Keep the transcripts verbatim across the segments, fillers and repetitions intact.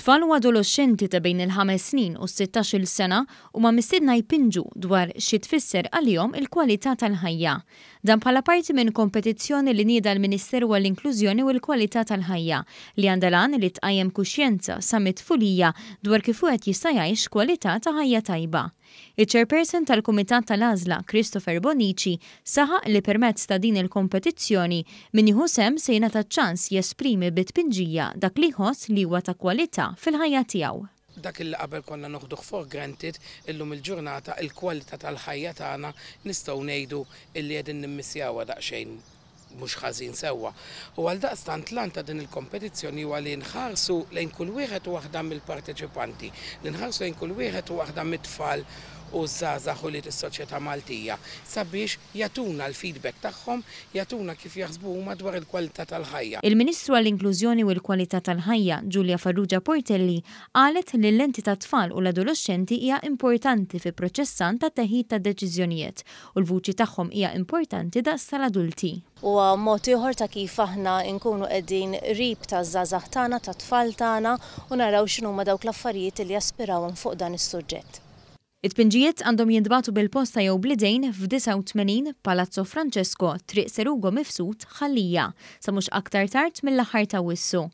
Tfal u adolexxenti ta' bejn il-ħames snin u s-sittax-il sena huma mistiedna jpinġu dwar xi tfisser għalihom il-kwalità tal-ħajja. Dan bħala parti minn kompetizzjoni li nieda l-Ministeru għall-Inklużjoni u l-Kwalità tal-Ħajja li għandha l-għan li tqajjem kuxjenza sa mit-tfulija dwar kif wieħed jista' jgħix kwalità ta' ħajja tajba. Iċ-chairperson tal-Kumitat tal-Għażla, Christopher Bonici, saħaq li permezz ta' din il-kompetizzjoni min jieħu sehem se jingħata ċans jesprimi bit-tpinġija dak li jħoss li huwa ta' kwalità fil-ħajja tiegħu. Dak li qabel konna noħduh for granted, illum il-ġurnata il-kwalità tal-ħajja tagħna nistgħu ngħidu illi qegħdin nimmissjawha daqsxejn mhux ħażin sewwa. U għal daqstant l-għan ta' din il-kompetizzjoni huwa li nħarsu lejn kull wieħed u waħda mill-parteċipanti, li nħarsu lejn kull wieħed u waħda mit-tfal u żgħażagħ u li s-soċjetà Maltija sabiex jagħtuna l-feedback tagħhom, jagħtuna kif jaħsbu huma dwar il-kwalità tal-ħajja. Il-Ministru għall-Inklużjoni u l-Kwalità tal-Ħajja, Julia Farrugia Portelli, qalet li l-lenti tat-tfal u l-adolexxenti hija importanti fi proċess ta' teħid ta' deċiżjonijiet u l-vuċi tagħhom hija importanti daqs tal-adulti. Huwa mod ieħor ta' kif aħna nkunu qegħdin qrib taż-żgħażagħ tagħna, tat-tfal tagħna u naraw x'inhuma dawk l-affarijiet li jaspirawhom fuq dan is-suġġett. It-tpinġijiet għandhom jintbagħtu bil-posta jew bl-idejn f'disgħa u tmenin Palazzo Francesco, Triq Sir Ugo Mifsud, Ħal Lija, sa mhux aktar tard mill-aħħar ta' Awwissu.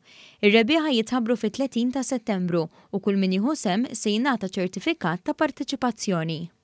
Ir-rebbieħa jitħabbru fit-tletin ta' Settembru u kull min jieħu sehem se jingħata ċertifikat ta' parteċipazzjoni.